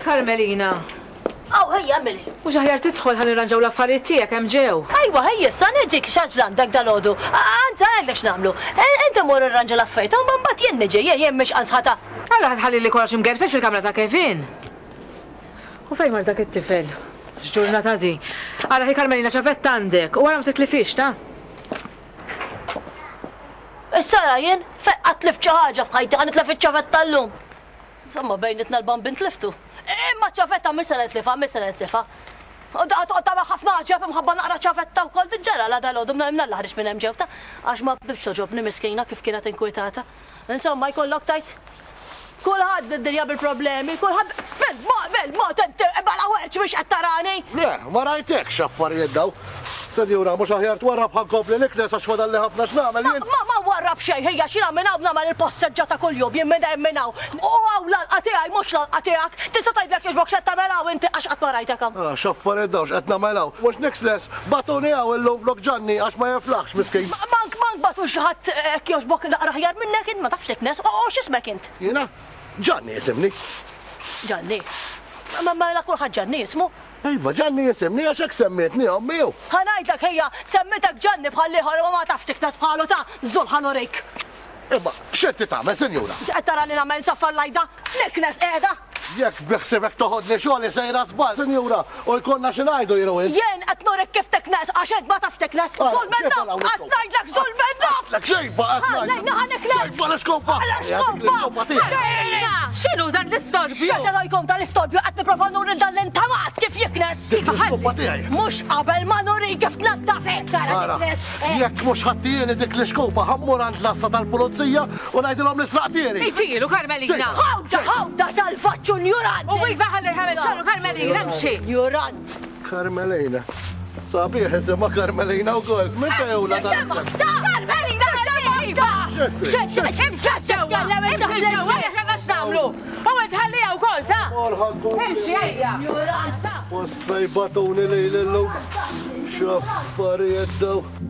Carmelina. Aw, ħejja, Emily. Mhux aħjar tidħol ħa nirranġaw l-affarijiet tiegħek hemm ġew. Ejwa, ħejja, issa niġik x'għaġla għandek dalgħodu. Anzi, ngħidlek x'nagħmlu. Inti mur irranġa l-affarijiet u mbagħad jien niġi, jien jien mhix qansħata. Allura ħa tħallili kollox imgerfex fil-kamra ta' Kevin. U fejn mar dak it-tifel? X'ġurnata di. Ara ħi Carmelina ċavetta għandek u ara ma titlifhiex, ta? Issa ara jien, fejn qatt tlift xi ħaġa f'ħajti ħa nitlef iċ-ċavetta llum. Insomma bejnietna l-bambin tliftu. Imma ċ-ċavetta mhix se nitlifha, mhix se nitlifha. U daqa toqgħod tagħmel ħafna għaġeb imħabba naqra ċavetta wkoll ġara la dalgħodu mnalla ħriġt minn hemm ġewta għax ma bdietx togħġobni miskina kif kienet inkwitata. Insomma jkollok tgħid Kulħadd bid-dinja bil-problemi, kulħadd bil-mod inti bala werċ biex qed tarani. Le, ma rajtekx affarijiet daw. Senjura, mhux aħjar twarrab ħa nkompli niknes għax fadalli ħafna x'nagħmel jien. Ma ma warrab xejn ħija x'jiena minn hawn nagħmel il-posseġġa ta' kuljum jien minn hemm minn hawn. U hawn l-għalqa tiegħi mhux l-għalqa tiegħek. Tista' tgħidlek jogħġbok x'qed tagħmel hawn inti għax qatt ma rajtek hawn. Ah, x'affarijiet dawn x'qed nagħmel hawn. Mhux niksles, bagħtuni hawn illum flok Ġanni għax ma jiflaħx miskin. Mank mank bagħtu xi ħadd hekk jogħġbok naqra aħjar minnek int ma tafx tiknes. U x'ismek int? Jiena? Ġanni jisimni. Ġanni? Ma mela kulħadd Ġanni jismu. Iva, Ġanni jisimni għax hekk semmietni ommi u. Ħa ngħidlek ħija, semmitek Ġanni bħall-ieħor imma ma tafx tiknes bħalu ta' żul ħa nurik. Imma x'inti tagħmel, sinjura? Qed tarani nagħmel nsaffar l-għajda? Niknes qiegħda! Jekk bi ħsiebek toħodli xogħli sejra żball, sinjura, u jkollna xi ngħidu jien u int. Jien qed nurik kif tiknes għax int ma tafx tiknes. Żul minn nofs! Qed ngħidlek żul minn nofs! Lek xejba qed ngħidlek! Ħallejna ħa niknes! Xejba l-iskopa! L-iskopa! X'inhu dan l-istorbju? X'qed jkun dan l-istorbju qed nipprova nuri lil dan l-intamat kif jiknes! Dik l-iskopa tiegħi! Mhux qabel ma nurik kif tnaddaf hekk tara tiknes! Jekk mhux ħa ttieni dik l-iskopa ħa mmur għand l-għassa tal-pulizija u ngħidilhom li sraqtieli! Itilu Carmelina! Ħawda, ħawda, salvaġġ u njurant! U iva ħalli ħamel xagħru Carmelina mxi! Njurant! Carmelina. Sabiħ isimha Carmelina wkoll. Minn fejn hu dan? Semgħek ta! Carmelina ħalli iva! Tkellem inti Imxi ġewwa aħna għax nagħmlu. U int ħalliha wkoll ta! Imxi ejja! Njurant! Post fejn bagħtuni lili llum. X'affarijiet dawn.